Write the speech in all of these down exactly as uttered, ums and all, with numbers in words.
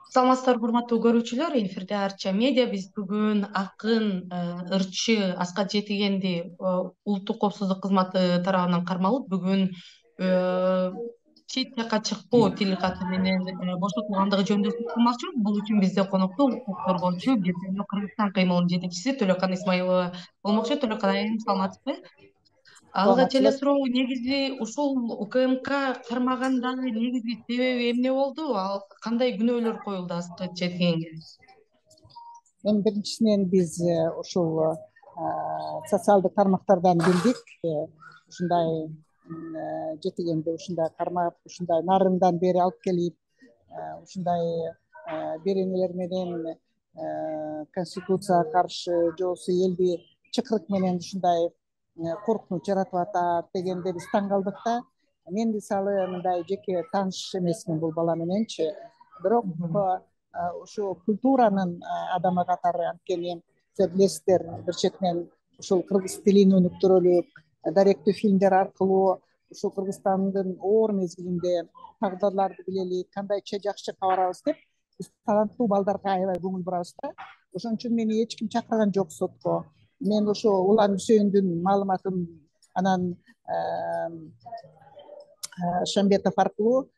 Саламатсыздарбы, урматтуу көрүүчүлөр. Эфирде Арча медиа. Биз бүгүн акын, ырчы Аскат Жетигенди улуттук коопсуздук кызматы тарабынан кармалып, бүгүн чет жакка чыкпоо тил каты менен бошотулгандыгы жөнүндө сөз кылмакчыбыз. Бул үчүн бизде конокто укук коргоочу Бир Кыргызстан кыймылынын жетекчиси Төлөкан Исмаилова болмокчу. Төлөкан айым, саламатсызбы? Алгач эле Саламатчылык. суроо, негизи ушул УКМК кармагандагы негизги себеби эмне болду? Ал кандай күнөөлөр коюлду Аскат Жетигенге? Эми биринчисинен биз ушул социалдык тармактардан билдик. Ушундай Жетигенди ушундай кармап, ушундай нарындан бери алып келип, ушундай беренелер менен конституцияга каршы же болбосо элди чыкырык менен ушундай коркунуч жаратып атат дегенде биз таң калдык да. Мен мисалы мындай жеке тааныш эмесмин бул бала мененчи, бирок ушу культуранын адамы катары, анткени сиздер билесиздер, бир четинен ушул кыргыз тилин өнүктүрөлүк, даректүү фильмдер аркылуу ушул Кыргызстандын оор мезгилинде тагдырларды билелик, кандайча жакшы чакка барабыз деп биз таланттуу балдарга аябай көңүл бурабыз да. Ошон үчүн мени эч ким чакырган жок сотко. Мен ошо Улан Үсөйүндүн маалыматын анан Шамбетов аркылуу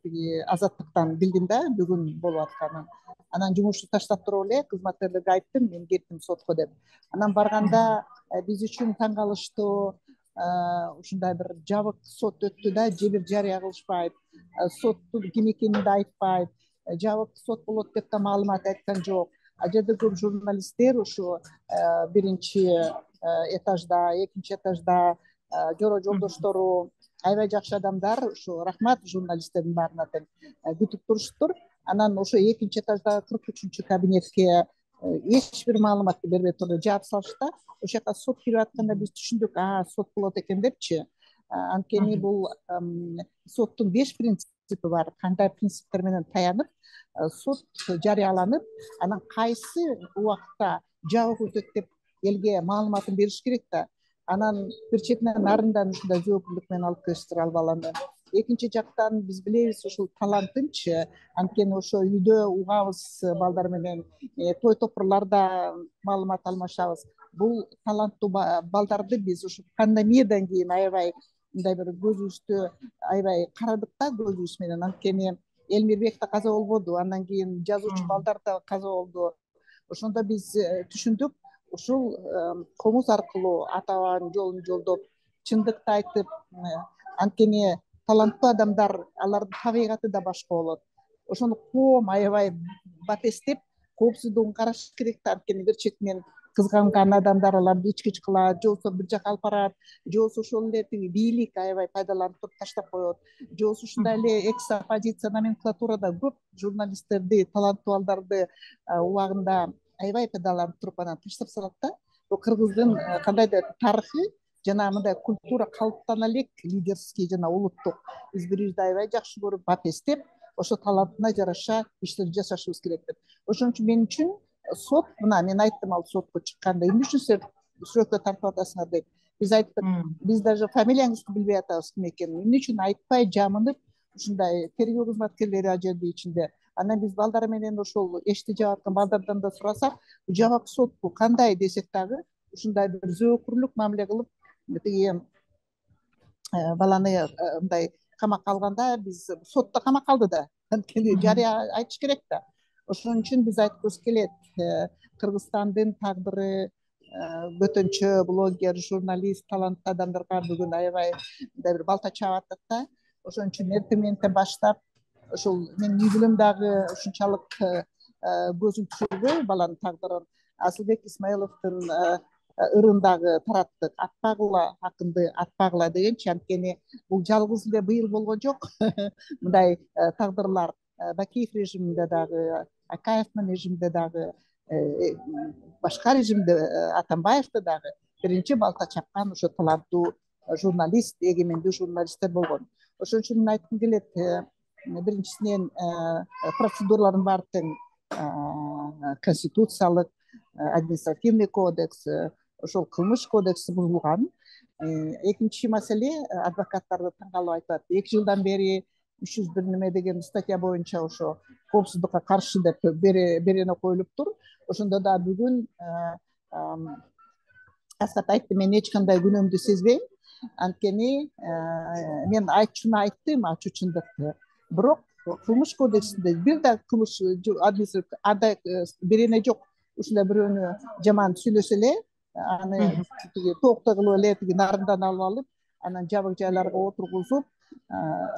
тиги Азаттыктан билдим да бүгүн болуп атканын. Анан жумушту таштап туруп эле кызматкерлерге айттым, мен кеттим сотко деп. Анан барганда биз үчүн таң калыштуу, ушундай бир жабык сот өттү да, же бир жарыя кылышпайт, соттун ким экенин да айтпайт, жабык сот болот деп да маалымат айткан жок. Ал жерде көп журналисттер ушу биринчи этажда, экинчи этажда жоро жолдоштору, аябай жакшы адамдар, ушу рахмат журналисттердин баарына тең күтүп туруштур. Анан ошо экинчи этаждагы кырк үчүнчү кабинетке эч бир маалыматты бербей туруп жаап салышты. Ошол жака сот кирип атканда биз түшүндүк, а сот болот экен депчи. Анткени бул соттун беш принципи бар. Кандай принциптер менен таянып сот жарыяланып, анан кайсы убакта жабык өтөт деп элге маалыматын бериш керек да. Анан бир четинен нарындан ушундай жоопкерчилик менен алып келиштир ал баланы. Экинчи жактан биз билебиз ушул талантынчы, анткени ошо үйдө угабыз балдар менен, той топурларда маалымат алмашабыз. Бул таланттуу балдарды биз ушу пандемиядан кийин аябай мындай бир көзүбүздү аябай карадык да көзүбүз менен, анткени Элмирбек да каза болбоду, андан кийин жазуучу балдар да каза болду. Ошондо биз түшүндүк, ушул комуз аркылуу ата бабанын жолун жолдоп, чындыкты айтып, анткени таланттуу адамдар, алардын табигаты да башка болот. Ошону коом аябай батестеп, коопсуздугун караш керек да, анткени бир четинен кызганган адамдар аларды ич-кич кылат, же болбосо бир жака алып барат, же болбосо ошол эле тиги бийлик аябай пайдаланып туруп таштап коет, же болбосо ушундай эле экс-оппозиция номенклатурада көп журналисттерди, таланттуу балдарды убагында аябай пайдаланып туруп анан таштап салат да. Бул кыргыздын кандайдыр тарыхы жана мындай культура калыптана элек, лидерский жана улуттук. Биз бири бирибизди аябай жакшы көрүп, батестеп, ошо талантына жараша иштерди жасашыбыз керек деп. Ошон үчүн мен үчүн сот, мына мен айттым ал сотко чыкканда, эмне үчүн силер сүрөткө тартып атасыңар деп. Биз айттык, биз даже фамилияңызды билбей атабыз ким экенин. Эмне үчүн айтпай, жамынып, ушундай тергөө кызматкерлери ал жерде ичинде. Анан биз балдар менен ошол эшти жаап аткан балдардан да сурасак, жабык сотпу кандай десек дагы, ушундай бир зөөкүрлүк мамиле кылып, тиги баланы мындай камакка алганда, биз сотто камакка алды да, анткени жарыя айтыш керек да. Ошон үчүн биз айткыбыз келет, Кыргызстандын тагдыры бөтөнчө блогер, журналист, таланттуу адамдарга бүгүн аябай мындай бир балта чаап атат да. Ошон үчүн эртең мененден баштап ошол менин үй бүлөм дагы ушунчалык көзүн түшүрбөй баланын тагдырын. Асылбек Исмаиловдун ырын дагы тараттык. Атпагыла акынды, атпагыла дегенчи, анткени бул жалгыз эле быйыл болгон жок. Мындай тагдырлар Бакиев режиминде дагы, Акаевдин режиминде дагы, башка режимде Атамбаевде дагы биринчи балта чапкан ошо таланттуу журналист, эгемендүү журналисттер болгон. Ошон үчүн мен айткым келет, биринчисинен процедуралардын баары тең, конституциялык, административный кодекс, ошол кылмыш кодекси бузулган. Экинчи маселе, адвокаттарды таң калып айтат, эки жылдан бери үч жүз бир неме деген статья боюнча ошо коопсуздукка каршы деп берене коюлуптур. Ошондо да бүгүн Аскат айтты, мен эч кандай күнөөмдү сезбейм. Анткени мен айтчуну айттым, ачуу чындыкты. Бирок кылмыш кодексинде бир да кылмыш андай берене жок. Ушундай бирөөнү жаман сүйлөсө эле, аны тиги тооктой кылып эле тиги нарындан алып алып, анан жабык жайларга отургузуп,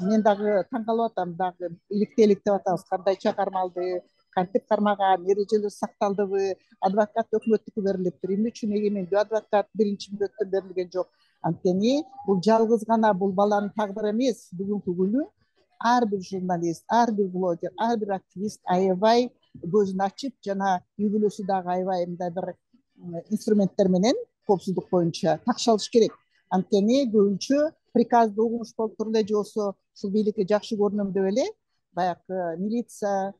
мен дагы таң калып атам, дагы иликте илик деп атабыз. Кандай чыгармалды, кантип кармаган, эрежелер сакталдыбы, адвокат өкмөттүкү берилиптир. Эмне үчүн эгемендүү адвокат биринчи мүнөттөн берилген жок? Анткени бул жалгыз гана бул баланын тагдыры эмес. Бүгүнкү күнү ар бир журналист, ар бир блогер, ар бир активист аябай көзүн ачып, жана үй бүлөсү дагы аябай мындай бир инструменттер менен коопсуздук боюнча такшалыш керек. Анткени көбүнчө приказды угуш болуп туруп эле же болбосо ушул бийликке жакшы көрүнөм деп эле баягы милиция,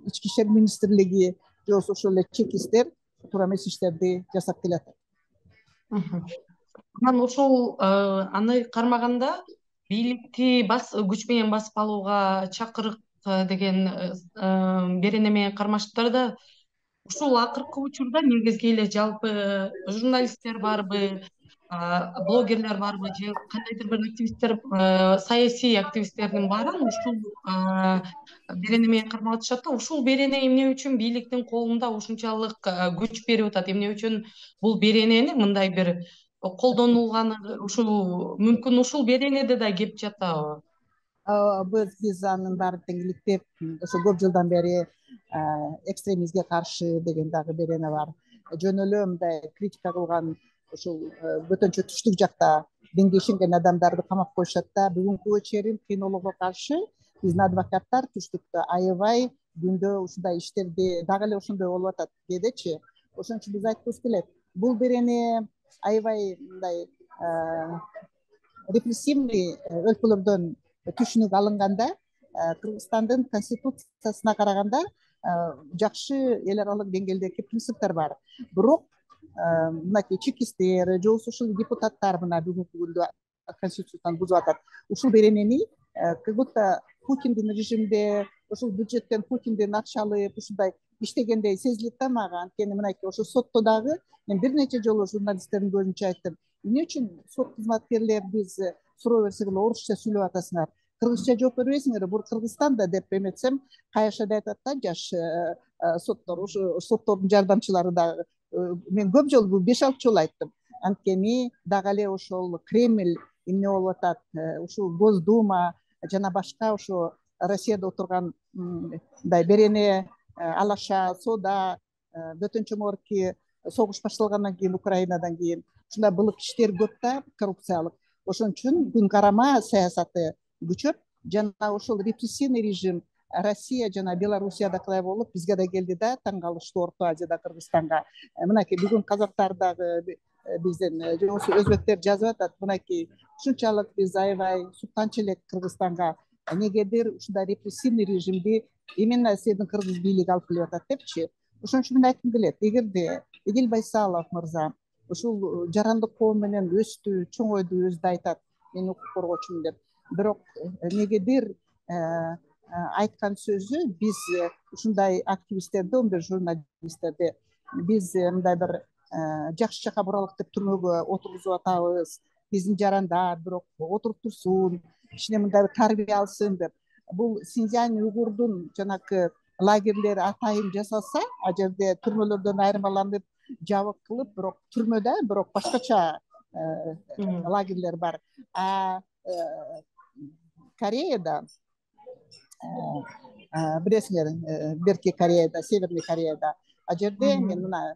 ички иштер министрлиги же болбосо ошол эле чекисттер туура эмес иштерди жасап келатат. Анан ошол аны кармаганда бийликти күч менен басып алууга чакырык деген берене менен кармаштырда, ушул акыркы учурда негизги эле жалпы журналисттер барбы, блогерлер барбы же кандайдыр бир активисттер, саясий активисттердин баарын ушул берене менен кармап атышат да. Ушул берене эмне үчүн бийликтин колунда ушунчалык күч берип атат? Эмне үчүн бул беренени мындай бир колдонулганы ушул мүмкүн ушул беренеде да кеп жатабы? Биз биз анын баарын тең иликтеп, ошо көп жылдан бери экстремизмге каршы деген дагы берене бар. Жөн эле мындай критика кылган ушул бөтөнчө түштүк жакта динге ишенген адамдарды камап коюшат да. Бүгүнкү чейин кинологго каршы биздин адвокаттар түштүктө аябай күндө ушундай иштерди дагы эле ошондой болуп атат кээдечи. Ошон үчүн биз айткыбыз келет. Бул берене аябай мындай репрессивный өлкөлөрдөн түшүнүк алынганда, Кыргызстандын конституциясына караганда жакшы эл аралык деңгээлдеги принциптер бар. Бирок мынакей чекисттер же болбосо ушул депутаттар мына бүгүнкү күндө конституцияны бузуп атат. Ушул беренени как будто Путиндин режимде ошол бюджеттен Путиндин акча алып ушундай иштегендей сезилет да мага. Анткени мынакей ошо сотто дагы мен бир нече жолу журналисттердин көзүнчө айттым. Эмне үчүн сот кызматкерлер биз суроо берсек эле орусча сүйлөп атасыңар, кыргызча жооп бербейсиңерби? Бул Кыргызстанда деп эметсем, кайышада айтат да жаш соттор, ушу соттордун жардамчылары дагы. Мен көп жолу бул беш алты жолу айттым. Анткени дагы эле ошол Кремль эмне болуп атат, ушул Госдума жана башка ошо Россияда отурган мындай берене, Алаша, Сода, бөтөнчө могорки согуш башталгандан кийин Украинадан кийин ушундай былык иштер көп да, коррупциялык. Ошон үчүн күн карама саясаты күчөп, жана ошол репрессивный режим Россия жана Белоруссияда кылай болуп бизге да келди да, таң калыштуу Орто Азияда Кыргызстанга. Мынакей бүгүн казактар дагы бизден же болбосо өзбектер жазып атат, мынакей ушунчалык биз аябай суктанчу элек Кыргызстанга, эмнегедир ушундай репрессивный режимди именно сиздин кыргыз бийлиги алып келип атат депчи. Ошон үчүн мен айткым келет, эгерде Эдил Байсалов мырза ушул жарандык коом менен өстү, чоңойду, өзү да айтат, мен укук коргоочумун деп. Бирок эмнегедир айткан сөзү биз ушундай активисттерди, мындай журналисттерди биз мындай бир жакшы жака буралык деп түрмөгө отургузуп атабыз. Биздин жарандар бирок отуруп турсун, кичине мындай бир тарбия алсын деп. Бул Синьцзянь уйгурдун жанакы лагерлери атайын жасалса, а жерде түрмөлөрдөн айырмаланып, жабык кылып, бирок түрмөдө, бирок башкача лагерлер бар. А Кореяда, билесиңер, Берки Кореяда, Северный Кореяда, а жерде мен мына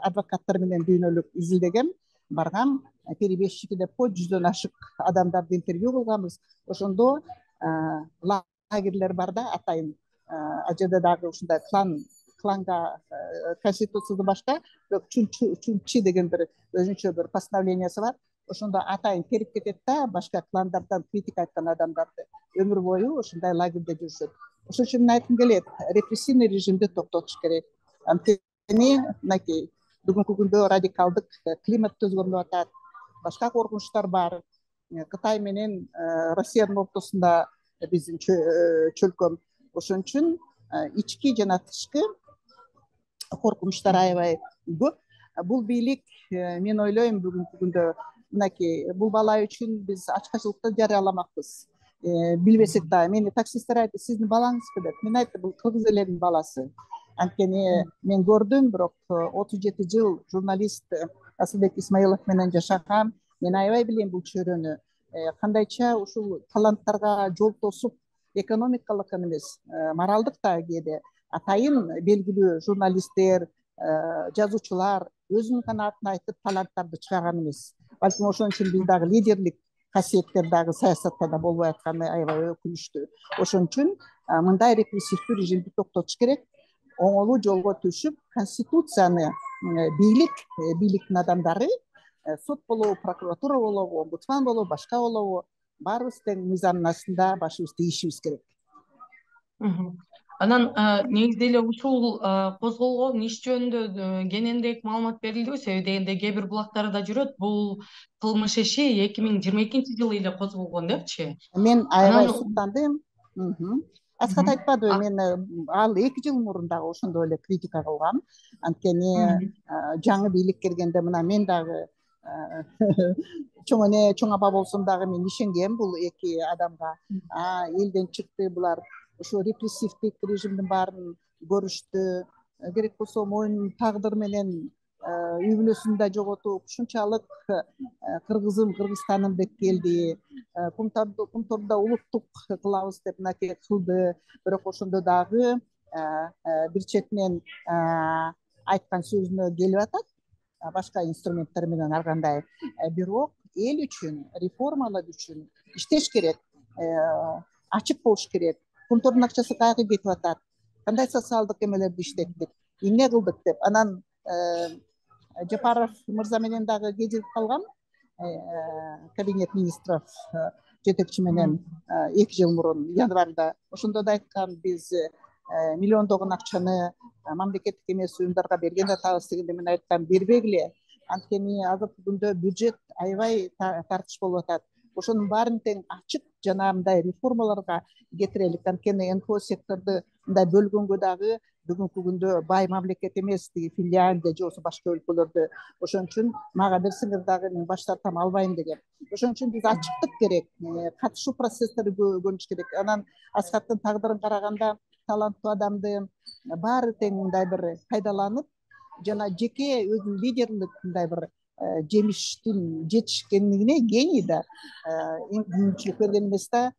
адвокаттар менен дүйнөлүк изилдегем, баргам, перебежчики деп кой, жүздөн ашык адамдарды интервью кылганбыз. Ошондо лагерлер бар да, атайын. А жерде дагы ушундай клан кланга конституциядан башка Чунчи деген бир өзүнчө бир постановлениясы бар. Ошондо атайын терип кетет да, башка кландардан критика айткан адамдарды өмүр бою ошондой лагерде жүрүшөт. Ошон үчүн мен айткым келет, репрессивный режимди токтотуш керек. Анткени мынакей бүгүнкү күндө радикалдык климат өзгөрүп атат, башка коркунучтар бар. Кытай менен Россиянын ортосунда биздин чөлкөм. Ошон үчүн ички жана тышкы коркунучтар аябай көп. Бул бийлик мен ойлойм бүгүнкү күндө мынакей бул бала үчүн биз ачкачылыкты жарыяламакпыз. Билбесек да мени таксисттер айтты, сиздин балаңызбы деп. Мен айттым, бул кыргыз элинин баласы. Анткени мен көрдүм, бирок отуз жети жыл журналист Асылбек Исмаилов менен жашагам. Мен аябай билем бул чөйрөнү. Кандайча ушул таланттарга жол тосуп, экономикалык эмес, моралдык да кээде атайын белгилүү журналисттер, жазуучулар өзүнүн канаатын айтып таланттарды чыгарган эмес. Балким ошон үчүн биз дагы лидерлик касиеттер дагы саясатта да болбой атканы аябай өкүнүчтүү. Ошон үчүн мындай репрессивдүү режимди токтотуш керек. Оңолуу жолго түшүп, конституцияны бийлик, бийликтин адамдары, сот болобу, прокуратура болобу, омбудсман болобу, башка болобу, баарыбыз тең мыйзамдын астында башыбызды ийишибиз керек. Анан негизи эле ушул козголгон иш жөнүндө кененирээк маалымат берилдиби? Себеби дегенде кээ бир булактарда жүрөт, бул кылмыш иши эки миң жыйырма экинчи жылы эле козголгон депчи. Мен аябай суктандым. Аскат айтпадыбы, мен ал эки жыл мурун дагы ошондой эле критика кылгам. Анткени жаңы бийлик келгенде мына мен дагы чоң эне, чоң апа болсом дагы мен ишенгем бул эки адамга. Элден чыкты булар. Ошо репрессивдик режимдин баарын көрүштү. Керек болсо моюнун тагдыр менен үй бүлөсүн да жоготуп, ушунчалык кыргызым, Кыргызстаным деп келди. Кумтордо улуттук кылабыз деп мынакей кылды. Бирок ошондо дагы бир четинен айткан сөзүнө келип атат, башка инструменттер менен ар кандай. Бирок эл үчүн, реформалар үчүн иштеш керек, ачык болуш керек. Кумтордун акчасы каяка кетип атат? Кандай социалдык эмелерди иштеттик? Эмне кылдык деп. Анан Жапаров мырза менен дагы кезигип калгам. Кабинет министров жетекчи менен эки жыл мурун январда. Ошондо да айткан, биз миллиондогон акчаны мамлекеттик эмес уюмдарга берген атабыз дегенде мен айткам, бербегиле. Анткени азыркы күндө бюджет аябай тартыш болуп атат. Ошонун баарын тең ачык жана мындай реформаларга кетирелик. Анткени эн ка о секторду мындай бөлгөнгө дагы бүгүнкү күндө бай мамлекет эмес, тиги Финляндия же болбосо башка өлкөлөрдө. Ошон үчүн мага берсеңер дагы мен баш тартам, албайм дегем. Ошон үчүн биз ачыктык керек, катышуу процесстери көрүш керек. Анан Аскаттын тагдырын караганда таланттуу адамды баары тең мындай бир пайдаланып, жана жеке өзүнүн лидерлик мындай бир жемиштин жетишкендигине гений да мүмкүнчүлүк берген эмес да.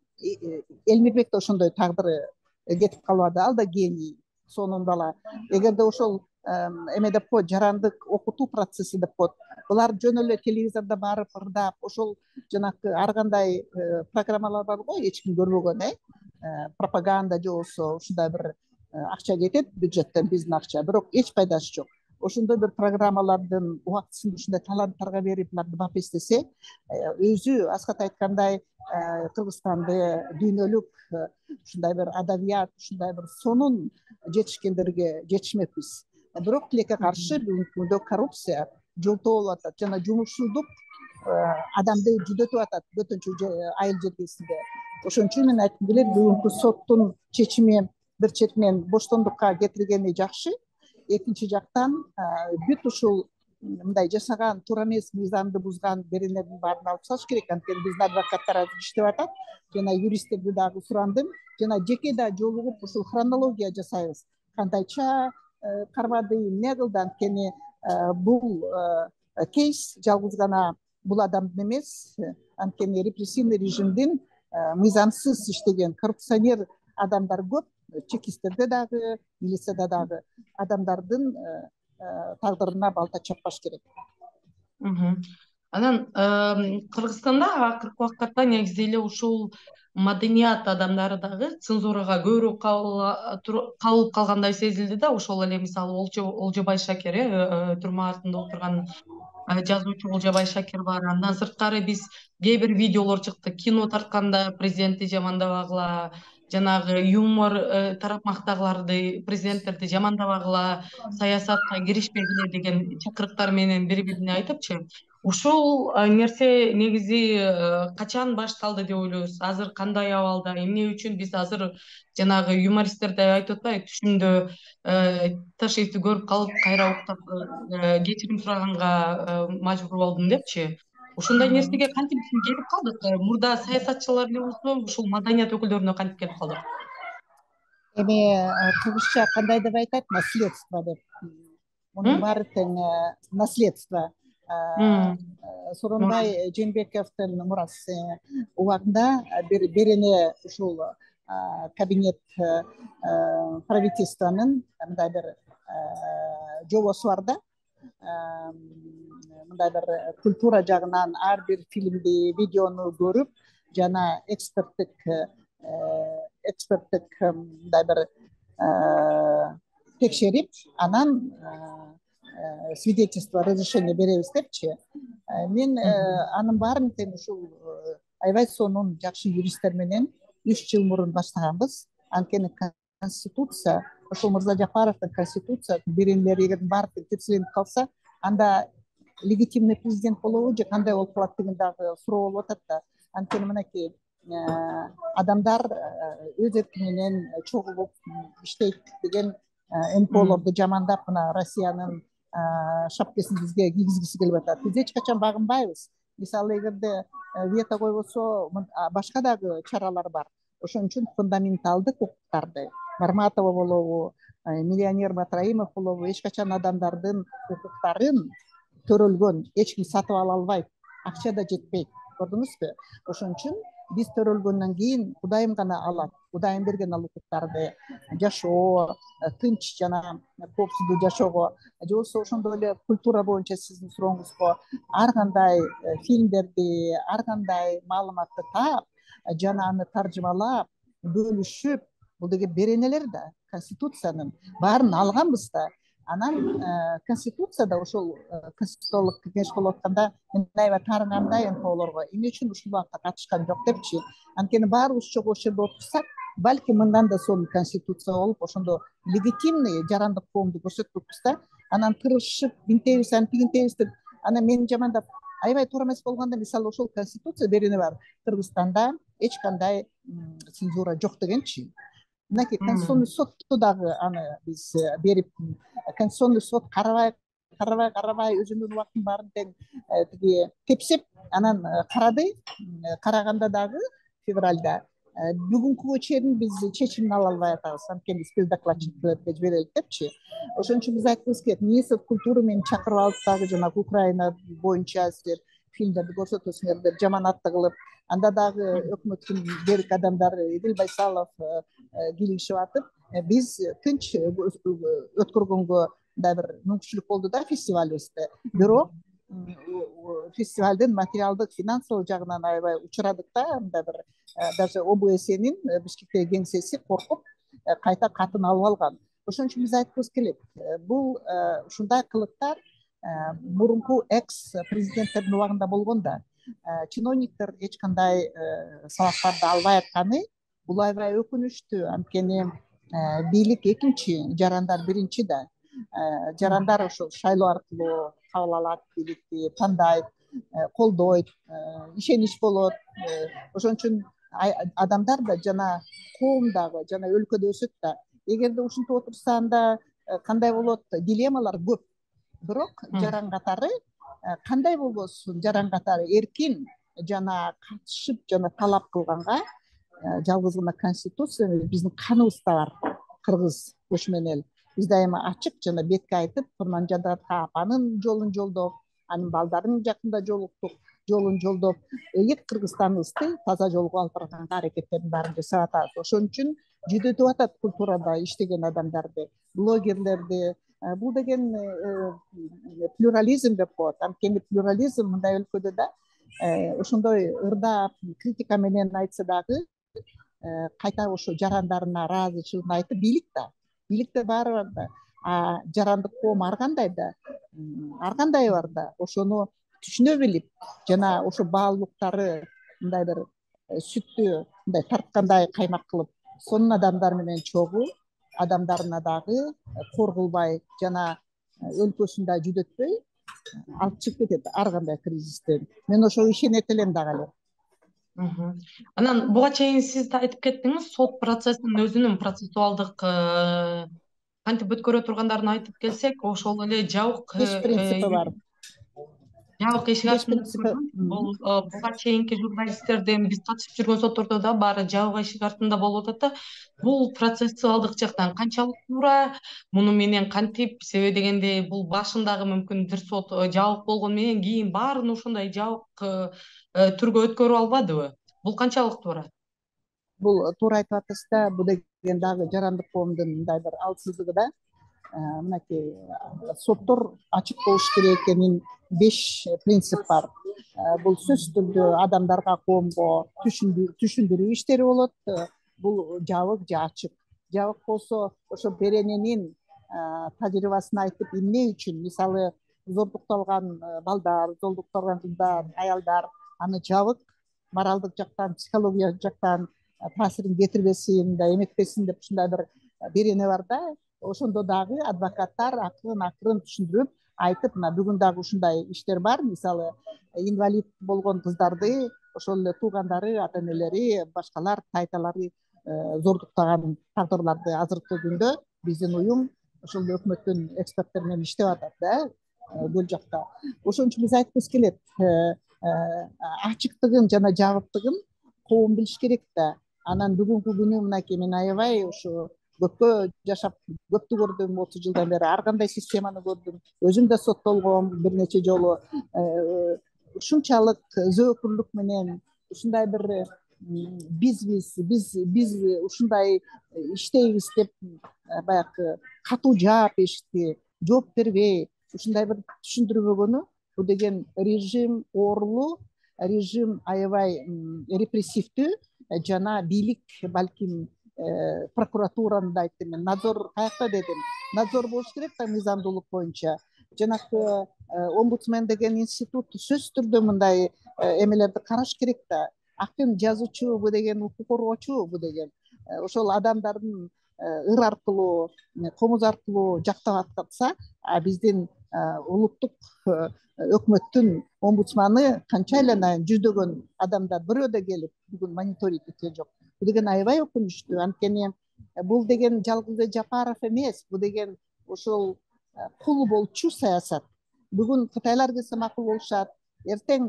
Элмирбек да ошондой тагдыры кетип калбады, ал да гений, сонун бала. Эгерде ошол эме деп коет, жарандык окутуу процесси деп коет, булар жөн эле телевизордо барып ырдап, ошол жанакы ар кандай программалар бар го, эч ким көрбөгөн, э пропаганда же болбосо ушундай бир акча кетет бюджеттен, биздин акча, бирок эч пайдасы жок. Ошондой бир программалардын убактысын ушундай таланттарга берип, буларды бап эстесе, өзү Аскат айткандай Кыргызстанды дүйнөлүк ушундай бир адабият, ушундай бир сонун жетишкендерге жетишмекпиз. Бирок тилекке каршы бүгүнкү күндө коррупция жолтоо болуп атат жана жумушсуздук адамды жүдөтүп атат бөтөнчө айыл жергесинде. Ошон үчүн мен айткым келет, бүгүнкү соттун чечими бир четинен боштондукка кетиргени жакшы. Экинчи жактан бүт ушул мындай жасаган туура эмес, мыйзамды бузган беренелердин баарын алып тасташ керек. Анткени биздин адвокаттар азыр иштеп атат, жана юристтерди дагы сурандым, жана жеке да жолугуп ушул хронология жасайбыз. Кандайча кармады, эмне кылды? Анткени бул кейс жалгыз гана бул адамдын эмес, анткени репрессивный режимдин мыйзамсыз иштеген коррупционер адамдар көп. Чекисттерде дагы, милицияда дагы адамдардын тагдырына балта чаппаш керек. Анан Кыргызстанда акыркы убакытта негизи эле ушул маданият адамдары дагы цензурага көбүрөөк кабылып калгандай сезилди да. Ошол эле мисалы Олжобай Шакер, э түрмө артында отурган жазуучу Олжобай Шакер бар. Андан сырткары биз кээ бир видеолор чыкты, кино тартканда президентти жамандабагыла, жанагы юмор тарапмактагыларды, президенттерди жамандабагыла, саясатка киришпегиле деген чакырыктар менен бири бирине айтыпчы. ушул нерсе негизи качан башталды деп ойлойсуз? Азыр кандай абалда? Эмне үчүн биз азыр жанагы юмористтер да айтып атпайбы, түшүмдө таш эсти көрүп калып, кайра уктап кечирим сураганга мажбур болдум депчи. Ошондой нерсеге кантип биз келип калдык? Мурда саясатчылар эле болсо, ушул маданият өкүлдөрүнө кантип келип калдык? Эми кыргызча кандай деп айтат? Наследство деп. Мунун баары тең наследство. Сооронбай Жээнбековдун мурасы убагында бир берене ушул кабинет правительствонун мындай бир жобосу бар да. Мындай бир культура жагынан ар бир фильмди, видеону көрүп, жана эксперттик эксперттик мындай бир текшерип, анан свидетельство, разрешение беребиз депчи. Мен анын баарын тең ушул аябай сонун жакшы юристтер менен үч жыл мурун баштаганбыз. Анткени конституция, ошол Мырза Жапаровдун конституциясы беренелери эгер баары тирселенип калса, анда легитимный президент болобу же кандай болуп калат деген дагы суроо болуп атат да. Анткени мынакей адамдар өз эрки менен чогулуп иштейт деген эм пэ олорду жамандап, мына Россиянын шапкасын бизге кийгизгиси келип атат. Биз эч качан багынбайбыз. Мисалы, эгерде вето койбосо, башка дагы чаралар бар. Ошон үчүн фундаменталдык укуктарды, Марматова болобу, миллионер Батраимов болобу, эч качан адамдардын укуктарын төрөлгөн эч ким сатып ала албайт. Акча да жетпейт. Көрдүңүзбү? Ошон үчүн биз төрөлгөндөн кийин Кудайым гана алат. Кудайым берген ал укуктарды жашоо, тынч жана коопсуздуу жашоого, же болбосо ошондой эле культура боюнча сиздин сурооңузго ар кандай фильмдерди, ар кандай маалыматты таап, жана аны таржымалап, бөлүшүп, бул деген беренелер да, конституциянын баарын алганбыз да. Анан конституцияда ошол конституциялык кеңеш болуп атканда мен аябай таарынгандай эм пэ олорго эмне үчүн ушул убакта катышкан жок депчи. Анткени баарыбыз чогуу ошол жерде отурсак, балким мындан да сонун конституция болуп, ошондо легитимный жарандык коомду көрсөтпөкпүз да. Анан тырышып, мынтебиз, антигинтебиз деп, анан мени жамандап, аябай туура эмес болгондо, мисалы, ошол конституция берене бар. Кыргызстанда эч кандай цензура жок дегенчи. Мынакей конституционный сотту дагы аны биз берип, конституционный сот карабай, карабай, карабай, өзүнүн убактын баарын тең тиги тепсеп, анан карады. Караганда дагы февралда бүгүнкүгө чейин биз чечимин ала албай атабыз. Анткени спецдокладчиклерге жиберелик депчи. Ошон үчүн биз айткыбыз келет, министр культуры мени чакырып алып дагы жана Украина боюнча силер фильмдерди көрсөтөсүңөр деп жаманатты кылып, анда дагы өкмөттүн берик адамдары Эдил Байсалов кийлигишип атып, биз тынч өткөргөнгө да бир мүмкүнчүлүк болду да фестивалыбызды. Бирок фестивалдын материалдык, финансылык жагынан аябай учурадык да, мындай бир даже о бэ эс энин Бишкектеги кеңсеси коркуп кайта катын алып алган. Ошон үчүн биз айткыбыз келет, бул ушундай кылыктар мурунку экс президенттердин убагында болгон да. Чиновниктер эч кандай сабактарды албай атканы бул аябай өкүнүчтүү. Анткени бийлик экинчи, жарандар биринчи да. Жарандар ошол шайлоо аркылуу кабыл алат, бийликти тандайт, колдойт, ишенич болот. Ошон үчүн адамдар да жана коом дагы, жана өлкөдө өсөт да. Эгерде ушинтип отурса, анда кандай болот? Дилеммалар көп. Бирок жаран катары кандай болбосун, жаран катары эркин жана катышып жана талап кылганга жалгыз гана конституция биздин каныбызда бар. Кыргыз көчмөн эл. Биз дайыма ачык жана бетке айтып, Курманжан апанын жолун жолдоп, анын балдарын жакында жолуктук, жолун жолдоп, элек Кыргызстаныбызды таза жолго алып барганга аракеттерин баарын жасап атабыз. Ошон үчүн жүдөтүп атат культурада иштеген адамдарды, блогерлерди. Бул деген плюрализм деп коет. Анткени плюрализм мындай өлкөдө да ошондой ырдап, критика менен айтса дагы кайта ошо жарандарына ыраазычылыгын айтып, бийлик да. Бийликте баары бар да. А жарандык коом ар кандай да, ар кандай бар да. Ошону түшүнө билип, жана ошо баалуулуктары мындай бир сүттү мындай тарткандай каймак кылып, сонун адамдар менен чогуу, адамдарына дагы кор кылбай жана өлкөсүн да жүдөтпөй, алып чыгып кетет ар кандай кризистен. Мен ошого ишенет элем дагы эле. Анан буга чейин сиз да айтып кеттиңиз, сот процессинин өзүнүн процессуалдык кантип өткөрө тургандарын айтып келсек, ошол эле жабык Беш принципи бар. жабык эшик артында өткөргөн. Бул буга чейинки журналисттердин биз катышып жүргөн соттордо да баары жабык эшик артында болуп атат да. Бул процессуалдык жактан канчалык туура, муну менен кантип, себеби дегенде бул башындагы мүмкүн бир сот жабык болгону менен кийин баарын ошондой жабык түргө өткөрүп албадыбы? Бул канчалык туура? Бул туура айтып атасыз да, бул деген дагы жарандык коомдун мындай бир алсыздыгы да. Мынакей соттор ачык болуш керек экенин беш принцип бар. Бул сөзсүз түрдө адамдарга, коомго түшүндүрүү иштери болот. Бул жабык же ачык. Жабык болсо ошо берененин тажрыйбасын айтып эмне үчүн, мисалы зордукталган балдар, зордукталган кыздар, аялдар аны жабык моралдык жактан, психологиялык жактан таасирин кетирбесин да, эметпесин деп ушундай бир берене бар да. Ошондо дагы адвокаттар акырын акырын түшүндүрүп айтып, мына бүгүн дагы ушундай иштер бар. Мисалы инвалид болгон кыздарды ошол эле туугандары, ата энелери, башкалар, тайталары зордуктаган тагдырларды азыркы күндө биздин уюм ошол өкмөттүн эксперттери менен иштеп атат да, бул жакта. Ошон үчүн биз айткыбыз келет, ачыктыгын жана жабыктыгын коом билиш керек да. Анан бүгүнкү күнү мынакей мен аябай ушу көпкө жашап, көптү көрдүм, отуз жылдан бери ар кандай системаны көрдүм. Өзүм да соттолгом бир нече жолу. Ушунчалык зөөкүрлүк менен ушундай бир биз биз биз биз ушундай иштейбиз деп баягы катуу жаап беришти, жооп бербей, ушундай бир түшүндүрбөгөнү, бул деген режим оорулуу, режим аябай репрессивдүү жана бийлик балким прокуратураны да айттым мен, надзор каякта дедим. Надзор болуш керек да мыйзамдуулук боюнча. Жанакы омбудсмен деген институт сөзсүз түрдө мындай эмелерди караш керек да. Акын жазуучу, бу деген укук коргоочу, бу деген ошол адамдардын ыр аркылуу, комуз аркылуу жактап аткарса, биздин улуттук өкмөттүн омбудсманы канча эле жүздөгөн адамдар бирөө да келип бүгүн мониторинг эткен жок. Бул деген аябай өкүнүчтүү. Анткени бул деген жалгыз Жапаров эмес, бул деген ошол кул болчу саясат. Бүгүн Кытайлар келсе макул болушат, эртең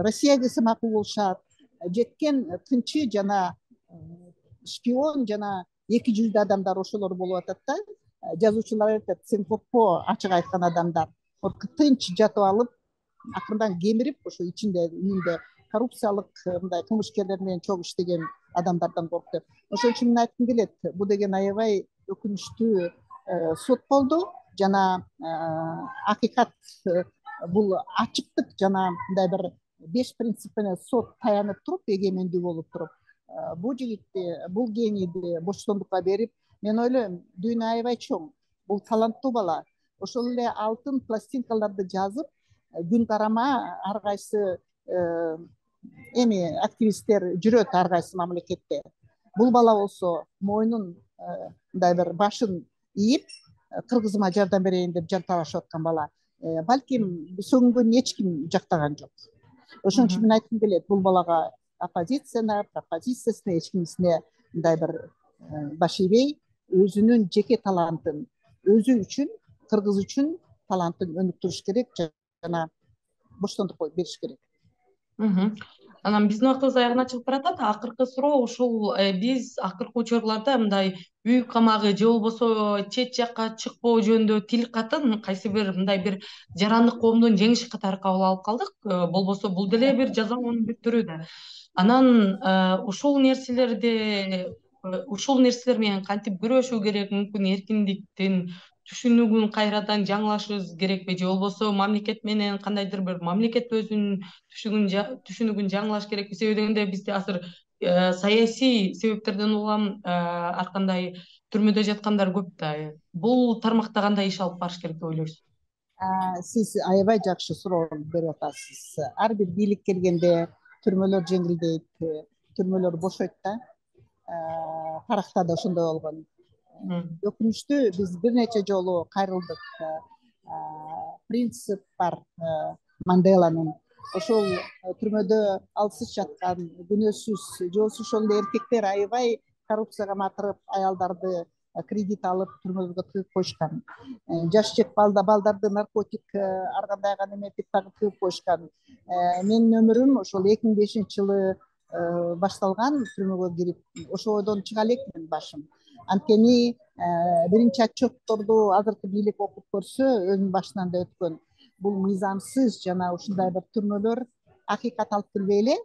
Россия келсе макул болушат. Жеткен тынчы жана шпион жана эки жүздүү адамдар ошолор болуп атат да. Жазуучулар айтат, сенкопко ачык айткан адамдар. Тынч жатып алып, акырындан кемирип, ошо ичинде үйүндө коррупциялык мындай кылмышкерлер менен чогуу иштеген адамдардан корк деп. Ошон үчүн мен айткым келет, бул деген аябай өкүнүчтүү сот болду жана акыйкат бул ачыктык жана мындай бир беш принцип менен сот таянып туруп, эгемендүү болуп туруп, бул жигитти, бул генийди боштондукка берип, мен ойлойм, дүйнө аябай чоң. Бул таланттуу бала. Ошол эле алтын пластинкаларды жазып, күн карама ар кайсы эми активисттер жүрөт ар кайсы мамлекетте. Бул бала болсо мойнун мындай бир башын ийип, кыргызыма жардам берейин деп жанталашып аткан бала. Балким сөгүнгөн эч ким жактаган жок. Ошон үчүн мен айткым келет, бул балага оппозицияна, пропозициясына, эч кимисине мындай бир баш ийбей, өзүнүн жеке талантын, өзү үчүн, кыргыз үчүн талантын өнүктүрүш керек жана боштондук бериш керек. Анан биздин убактыбыз аягына чыгып баратат. Акыркы суроо ушул, биз акыркы учурларда мындай үй камагы же болбосо чет жакка чыкпоо жөнүндө тил катын кайсы бир мындай бир жарандык коомдун жеңиши катары кабыл алып калдык. Болбосо бул деле бир жазалоонун бир түрү да. Анан ушул нерселерди ушул нерселер менен кантип күрөшүү керек? Мүмкүн эркиндиктин түшүнүгүн кайрадан жаңылашыбыз керекпи, же болбосо мамлекет менен кандайдыр бир мамлекет өзүнүн түшүнүгүн жаңылаш керекпи? Себеби дегенде бизде азыр саясий себептерден улам ар кандай түрмөдө жаткандар көп да. Бул тармакта кандай иш алып барыш керек деп ойлойсуз? Сиз аябай жакшы суроо берип атасыз. Ар бир бийлик келгенде түрмөлөр жеңилдейт, түрмөлөр бошойт да. Тарыхта да ошондой болгон. Өкүнүчтүү, биз бир нече жолу кайрылдык. принцип бар Манделанын. Ошол түрмөдө алсыз жаткан күнөөсүз же ошол эле эркектер аябай коррупцияга матырып аялдарды кредит алып түрмөгө тыгып коюшкан. Жаш жек балдарды наркотик ар кандай неметип тагып тыгып коюшкан. Менин өмүрүм ошол эки миң бешинчи жылы башталган. Түрмөгө кирип ошодон чыга элекмин башым. Анткени биринчи отчетторду азыркы бийлик окуп көрсө, өзүнүн башынан да өткөн. Бул мыйзамсыз жана ушундай бир түрмөлөр акыйкат алып келбей эле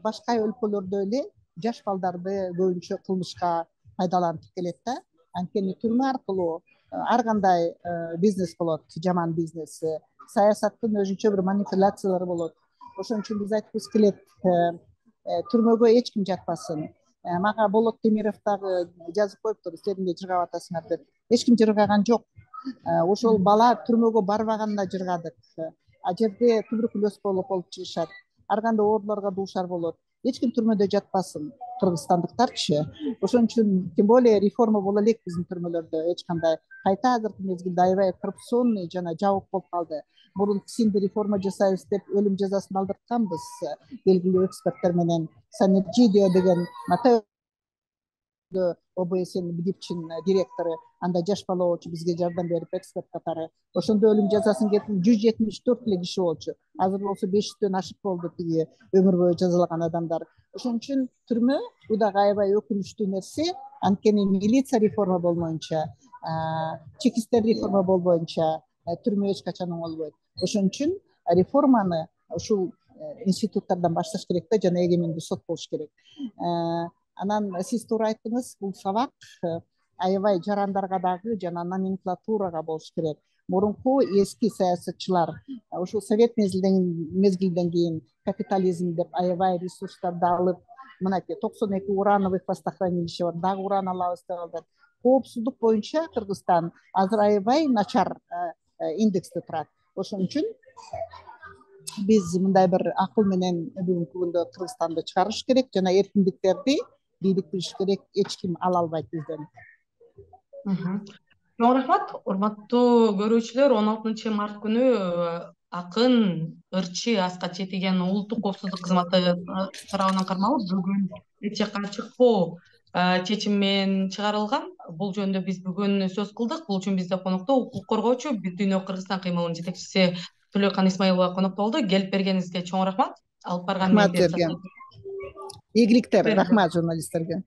башка өлкөлөрдө эле жаш балдарды көбүнчө кылмышка пайдаланып келет да. Анткени түрмө аркылуу ар кандай бизнес болот, жаман бизнес, саясаттын өзүнчө бир манипуляциялары болот. Ошон үчүн биз айткыбыз келет, түрмөгө эч ким жатпасын. Мага Болот Темиров дагы жазып коюптур, силер эмне жыргап атасыңар деп. Эч ким жыргаган жок. Ошол бала түрмөгө барбаганына жыргадык. А жерде туберкулез болуп алып чыгышат. Ар кандай ооруларга дуушар болот. Эч ким түрмөдө жатпасын, кыргызстандыктарчы. Ошон үчүн тем более реформа боло элек биздин түрмөлөрдө. Эч кандай кайта азыркы мезгилде аябай коррупционный жана жабык болуп калды. Мурун кичине реформа жасайбыз деп өлүм жазасын алдыртканбыз белгилүү эксперттер менен. Санерджидио деген ОБСН Бдипчин директору, анда жаш бала болчу, бизге жардам берип эксперт катары. Ошондо өлүм жазасын кетирип жүз жетимиш төрт эле киши болчу. Азыр болсо беш жүздөн ашык болду тиги өмүр бою жазалаган адамдар. Ошон үчүн түрмө бул дагы аябай өкүнүчтүү нерсе. Анткени милиция реформа болмоюнча, чекисттер реформа болбоюнча түрмө эч качан оңолбойт. Ошон үчүн реформаны ушул институттардан башташ керек да, жана эгемендүү сот болуш керек. Анан сиз туура айттыңыз, бул сабак аябай жарандарга дагы жана номенклатурага болуш керек. Мурунку эски саясатчылар ушул совет мезгилден кийин капитализм деп аябай ресурстарды алып, мынакей токсон эки урановых хвостохранилище бар, дагы уран алабыз деп алат. Коопсуздук боюнча Кыргызстан азыр аябай начар индексте турат. Ошон үчүн биз мындай бир акыл менен бүгүнкү күндө Кыргызстанды чыгарыш керек жана эркиндиктерди бийлик билиш керек, эч ким ала албайт бизден. Чоң рахмат, урматтуу көрүүчүлөр. он алтынчы март күнү акын ырчы Аскат Четиген улуттук коопсуздук кызматы тарабынан кармалып, бүгүн эч жакка чыкпоо чечим менен чыгарылган. Бул жөнүндө биз бүгүн сөз кылдык. Бул үчүн бизде конокто укук коргоочу Бүт дүйнө Кыргызстан кыймылынын жетекчиси Төлөкан Исмаилова конокто болду. Келип бергениңизге чоң рахмат. Алып барган Рахмат жерге. Ийгиликтер, рахмат журналисттерге.